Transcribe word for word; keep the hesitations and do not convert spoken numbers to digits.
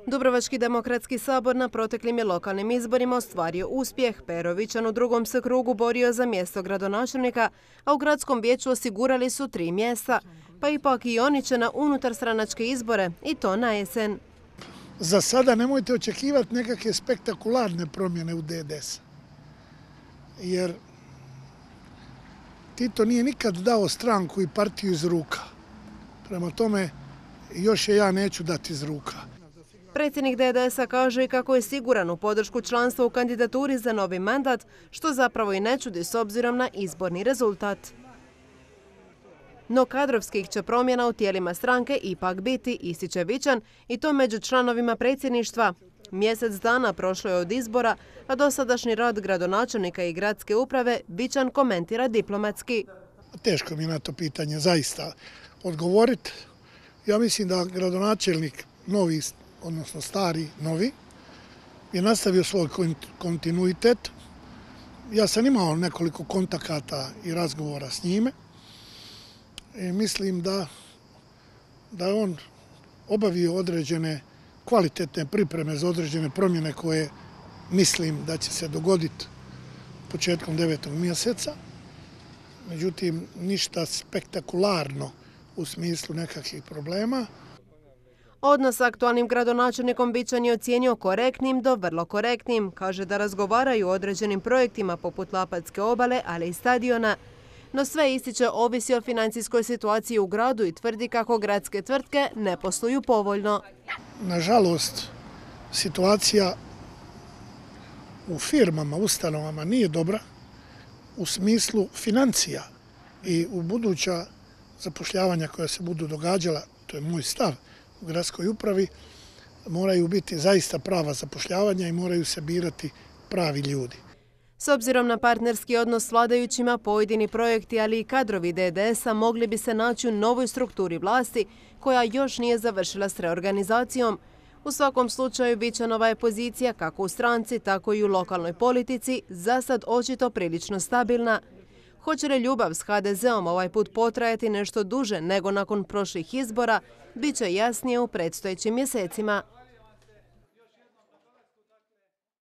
Dubrovački demokratski sabor na proteklim je lokalnim izborima ostvario uspjeh. Pero Vičan u drugom se krugu borio za mjesto gradonačelnika, a u gradskom vijeću osigurali su tri mjesta. Pa ipak i oni će na unutarstranačke izbore, i to na jesen. Za sada nemojte očekivati nekakve spektakularne promjene u D D S. Jer Tito nije nikad dao stranku i partiju iz ruka. Prema tome, još je ja neću dati iz ruka. Predsjednik D D S-a kaže i kako je siguran u podršku članstva u kandidaturi za novi mandat, što zapravo i ne čudi s obzirom na izborni rezultat. No kadrovskih će promjena u tijelima stranke ipak biti, ističe Vičan, i to među članovima predsjedništva. Mjesec dana prošlo je od izbora, a dosadašnji rad gradonačelnika i gradske uprave Vičan komentira diplomatski. Teško mi je na to pitanje zaista odgovoriti. Ja mislim da gradonačelnik novi, odnosno stari, novi, je nastavio svoj kontinuitet. Ja sam imao nekoliko kontakata i razgovora s njime. I mislim da, da je on obavio određene kvalitetne pripreme za određene promjene koje mislim da će se dogoditi početkom devetog mjeseca. Međutim, ništa spektakularno u smislu nekakvih problema. Odnos s aktualnim gradonačelnikom Vičan je ocijenio korektnim do vrlo korektnim. Kaže da razgovaraju o određenim projektima poput Lapatske obale, ali i stadiona. No sve ističe ovisi o financijskoj situaciji u gradu i tvrdi kako gradske tvrtke ne posluju povoljno. Nažalost, situacija u firmama, ustanovama nije dobra u smislu financija i u buduća zapošljavanja koja se budu događala, to je moj stav, u gradskoj upravi, moraju biti zaista prava zapošljavanja i moraju se birati pravi ljudi. S obzirom na partnerski odnos s vladajućima, pojedini projekti, ali i kadrovi D D S-a mogli bi se naći u novoj strukturi vlasti koja još nije završila s reorganizacijom. U svakom slučaju, Vičanova je pozicija kako u stranci, tako i u lokalnoj politici za sad očito prilično stabilna. Hoće li ljubav s H D Z-om ovaj put potrajati nešto duže nego nakon prošlih izbora, bit će jasnije u predstojećim mjesecima.